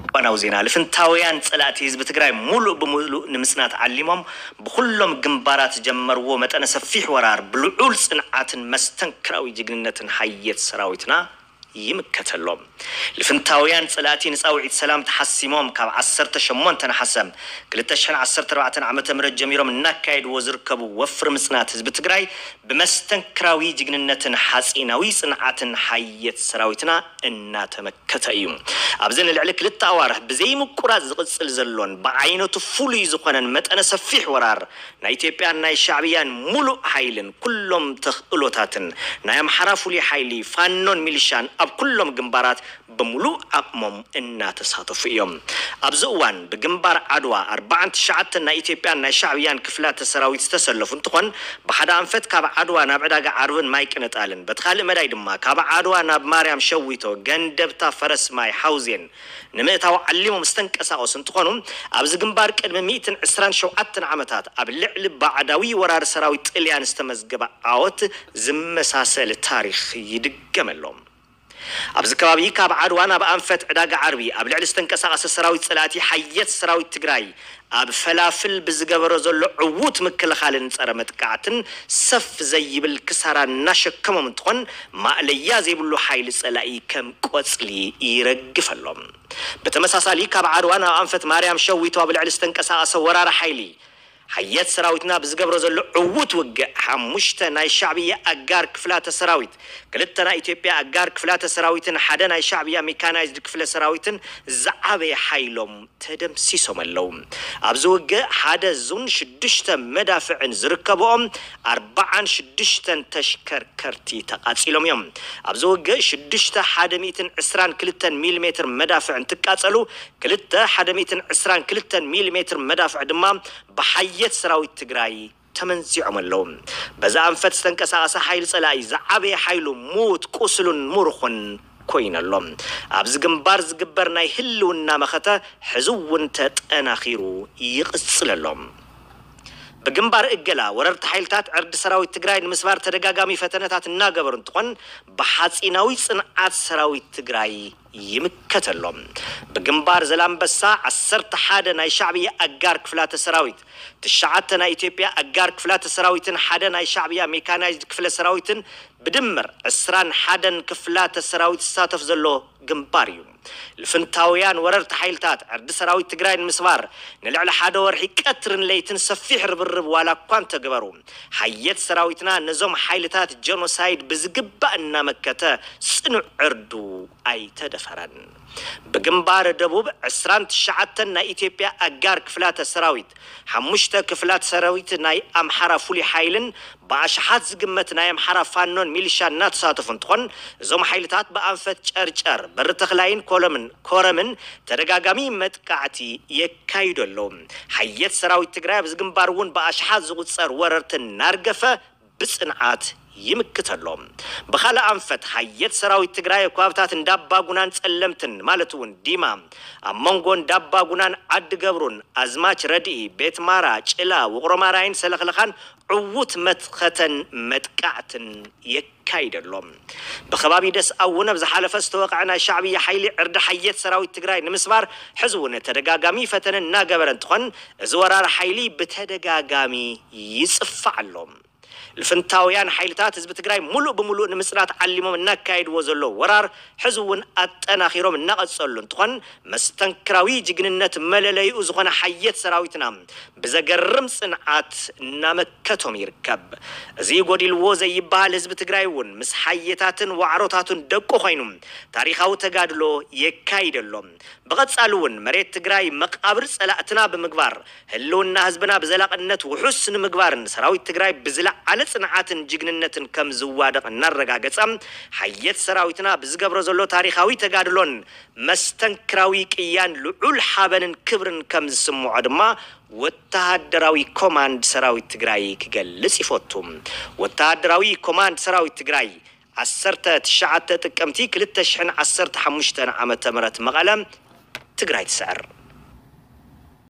እዋናዊ ዜና። ልፍንታውያን ጸላእቲ ህዝቢ ትግራይ ሙሉእ ብሙሉእ ንምጽናት ዓሊሞም ብኹሎም ግንባራት ዝጀመርዎ መጠነ ሰፊሕ ወራር ብልዑል ጽንዓትን መስተንክራዊ ጅግንነትን ሓየት ሰራዊትና ይምከተሎም። ልፍንታውያን ጸላእቲ ንጻውዒት ሰላም ተሓሲሞም ካብ ዓሰርተ ሸሞንተ ነሓሰ ክልተ ሽሕን ዓሰርተ ኣርባዕተን ዓመተ ምህረት ጀሚሮም እናካየድዎ ዝርከቡ ወፍሪ ምጽናት ህዝቢ ትግራይ ብመስተንክራዊ ጅግንነትን ሓጺናዊ ጽንዓትን ሓየት ሰራዊትና እናተመከተ እዩ። ኣብዚ ንልዕሊ ክልተ ኣዋርሕ ብዘይምቁራጽ ዝቕጽል ዘሎን ብዓይነቱ ፍሉይ ዝኾነን መጠነ ሰፊሕ ወራር ናይ ኢትዮጵያን ናይ ሻዕብያን ሙሉእ ሓይልን ኩሎም ተኽእሎታትን ናይ ኣምሓራ ፍሉይ ሓይሊ ፋኖን ሚሊሻን ኣብ ኩሎም ግንባራት ብሙሉእ ዓቕሞም እናተሳተፉ እዮም። ኣብዚ እዋን ብግንባር ዓድዋ ኣርባዓን ትሽዓተን ናይ ኢትዮጵያን ናይ ሻዕብያን ክፍላተ ሰራዊት ዝተሰለፉ እንትኾን ብሓደ ኣንፈት ካብ ዓድዋ ናብ ዕዳጋ ዓርብን ማይ ቅነጣልን በቲ ካልእ መዳይ ድማ ካብ ዓድዋ ናብ ማርያም ሸዊቶ፣ ገንደብታ፣ ፈረስ ማይ፣ ሓውዜን ንምእታው ዓሊሞም ዝተንቀሳቐሱ እንትኾኑ ኣብዚ ግንባር ቅድሚ ሚእትን ዕስራን ሸውዓተን ዓመታት ኣብ ልዕሊ ባዕዳዊ ወራሪ ሰራዊት ጥልያን ዝተመዝገበ ዓወት ዝመሳሰል ታሪኽ ይድገመሎም። ኣብዚ ከባቢ ካብ ዓድዋ ናብ ኣንፈት ዕዳጋ ዓርቢ ኣብ ልዕሊ ዝተንቀሳቐሰ ሰራዊት ጸላእቲ ሓየት ሰራዊት ትግራይ ኣብ ፈላፍል ብዝገበሮ ዘሎ ዕዉት ምክልኻልን ጸረ መጥቃዕትን ሰፍ ዘይብል ክሳራ እናሸከሞም እንትኾን ማእለያ ዘይብሉ ሓይሊ ጸላኢ ከም ቆጽሊ ይረግፈሎም። ብተመሳሳሊ ካብ ዓድዋ ናብ ኣንፈት ማርያም ሸዊቶ ኣብ ልዕሊ ዝተንቀሳቐሰ ወራሪ ሓይሊ ሓየት ሰራዊትና ብዝገብሮ ዘሎ ዕዉት ውግእ ሓሙሽተ ናይ ሻዕብያ ኣጋር ክፍላተ ሰራዊት፣ ክልተ ናይ ኢትዮጵያ ኣጋር ክፍላተ ሰራዊትን ሓደ ናይ ሻዕብያ ሜካናይዝድ ክፍለ ሰራዊትን ዝዓበየ ሓይሎም ተደምሲሶም ኣለዉ። ኣብዚ ውግእ ሓደ ዙን ሽዱሽተ መዳፍዕን ዝርከብኦም ኣርባዓን ሽዱሽተን ተሽከርከርቲ ተቓጺሎም እዮም። ኣብዚ ውግእ ሽዱሽተ ሓደ ሚእትን ዕስራን ክልተን ሚሊሜትር መዳፍዕ እንትቃጸሉ ክልተ ሓደ ሚእትን ዕስራን ክልተን ሚሊሜትር መዳፍዕ ድማ ብሓየት ሰራዊት ትግራይ ተመንዚዖም ኣለዉ። በዚ ኣንፈት ዝተንቀሳቐሰ ሓይሊ ጸላኢ ዝዓበየ ሓይሉ ምዉት፣ ቁስሉን ምሩኹን ኮይኑ ኣሎ። ኣብዚ ግንባር ዝግበር ናይ ህልውና መኸተ ሕዚ እውን ተጠናኺሩ ይቕጽል ኣሎ። ብግንባር እገላ ወረርቲ ሓይልታት ዕርዲ ሰራዊት ትግራይ ንምስባር ተደጋጋሚ ፈተነታት እናገበሩ እንትኾን ብሓፂናዊ ፅንዓት ሰራዊት ትግራይ ይምከተሎም። ብግንባር ዘላንበሳ ዓሰርተ ሓደ ናይ ሻዕብያ ኣጋር ክፍላተ ሰራዊት፣ ትሽዓተ ናይ ኢትዮጵያ ኣጋር ክፍላተ ሰራዊትን ሓደ ናይ ሻዕብያ ሜካናይዝድ ክፍለ ሰራዊትን ብድምር ዕስራን ሓደን ክፍላተ ሰራዊት ዝሳተፍ ዘሎ ግንባር እዩ። ልፍንታውያን ወረርቲ ሓይልታት ዕርዲ ሰራዊት ትግራይ ንምስባር ንልዕሊ ሓደ ወርሒ ቀትርን ለይትን ሰፊሕ ርብርብ ዋላ እኳ እንተገበሩ ሓየት ሰራዊትና ነዞም ሓይልታት ጀኖሳይድ ብዝግባእ እናመከተ ጽኑዕ ዕርዱ ኣይተደፈረን። ብግንባር ደቡብ ዕስራን ትሽዓተን ናይ ኢትዮጵያ ኣጋር ክፍላተ ሰራዊት፣ ሓሙሽተ ክፍላት ሰራዊት ናይ ኣምሓራ ፍሉይ ሓይልን ብኣሽሓት ዝግመት ናይ ኣምሓራ ፋኖን ሚሊሻ እናተሳተፉ እንትኾን እዞም ሓይልታት ብኣንፈት ጨርጨር፣ በሪ ተኽላይን ኮለምን ኮረምን ተደጋጋሚ መጥቃዕቲ የካይዱ ኣለዉ። ሓየት ሰራዊት ትግራይ ኣብዚ ግንባር እውን ብኣሽሓት ዝቑፀር ወረርቲ እናርገፈ ብፅንዓት ይምክት ኣሎ። ብኻልእ ኣንፈት ሓየት ሰራዊት ትግራይ ኣብ ከባብታት እንዳባጉናን ጸለምትን ማለት እውን ዲማ፣ ኣብ መንጎ እንዳባጉናን ዓዲ ገብሩን ኣዝማች ረድኢ፣ ቤት ማራ፣ ጭላ፣ ውቕሮ ማራይን ሰለኽለኻን ዕዉት መትኸተን መጥቃዕትን የካይደሎም። ብከባቢ ደስ ኣውን ኣብ ዝሓለፈ ዝተወቕዐ ናይ ሻዕብያ ሓይሊ ዕርዲ ሓየት ሰራዊት ትግራይ ንምስባር ሕዚ እውን ተደጋጋሚ ፈተነ እናገበረ እንትኾን እዚ ወራር ሓይሊ ብተደጋጋሚ ይጽፋዕ ኣሎ። ልፍንታውያን ሓይልታት ህዝቢ ትግራይ ሙሉእ ብሙሉእ ንምጽናት ዓሊሞም እናካየድዎ ዘሎ ወራር ሕዚ እውን ኣጠናኺሮም እናቐጸሉ እንትኾን መስተንክራዊ ጅግንነት መለለይኡ ዝኾነ ሓየት ሰራዊትና ብዘገርም ጽንዓት እናመከቶም ይርከብ። እዚ ጎዲልዎ ዘይበሃል ህዝቢ ትግራይ እውን ምስ ሓየታትን ዋዕሮታቱን ደቁ ኮይኑ ታሪኻዊ ተጋድሎ የካይደሎም። ብቐጻሊ እውን መሬት ትግራይ መቓብር ጸላእትና ብምግባር ህልውና ህዝብና ብዘላቕነት ውሑስ ንምግባርን ሰራዊት ትግራይ ብዝለዓለ ጽንዓትን ጅግንነትን ከም ዝዋደቕ እናረጋገጸ ሓየት ሰራዊትና ብዝገብሮ ዘሎ ታሪኻዊ ተጋድሎን መስተንክራዊ ቅያን ልዑል ሓበንን ክብርን ከም ዝስምዖ ድማ ወተሃደራዊ ኮማንድ ሰራዊት ትግራይ ክገልጽ ይፈቱ። ወተሃደራዊ ኮማንድ ሰራዊት ትግራይ ዓሰርተ ትሽዓተ ጥቅምቲ ክልተ ሽሕን ዓሰርተ ሓሙሽተን ዓመተ ምህረት መቐለ ትግራይ ትስዕር።